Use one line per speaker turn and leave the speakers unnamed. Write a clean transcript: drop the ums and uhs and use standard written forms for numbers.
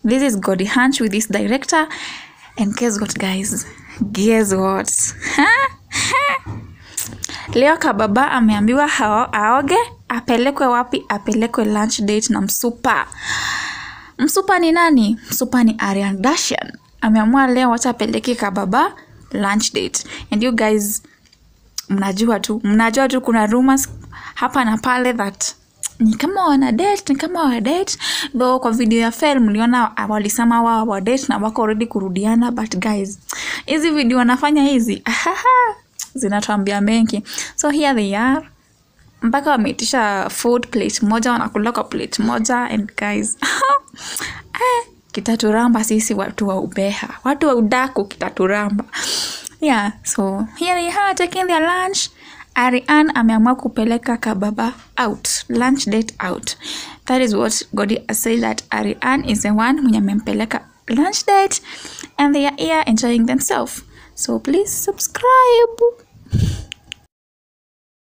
This is Gody Hanch with this director. And guess what, guys? Guess what? Leo kababa ameambiwa aoge, apelekwe wapi? Apelekwe lunch date na msupa. Msupa ni nani? Msupa ni Ariane Dashian. Ameamua leo wacha apeleke kababa lunch date. And you guys, mnajua tu kuna rumors hapa na pale that ni kama wana date, though kwa video ya film mliona walisema wao wa date na wako already kurudiana, but guys, hizi video wanafanya hizi zinatuambia mengi. So here they are, mpaka wameitisha food plate moja, wanakula kwa plate moja. And guys, kitaturamba sisi watu wa ubeha, watu wa udaku, kitaturamba. Yeah, so here they are taking their lunch. Ariane ameamua kupeleka kababa out, lunch date out. That is what Gody said, that Ariane is the one mwenye amempeleka lunch date, and they are here enjoying themselves. So please subscribe.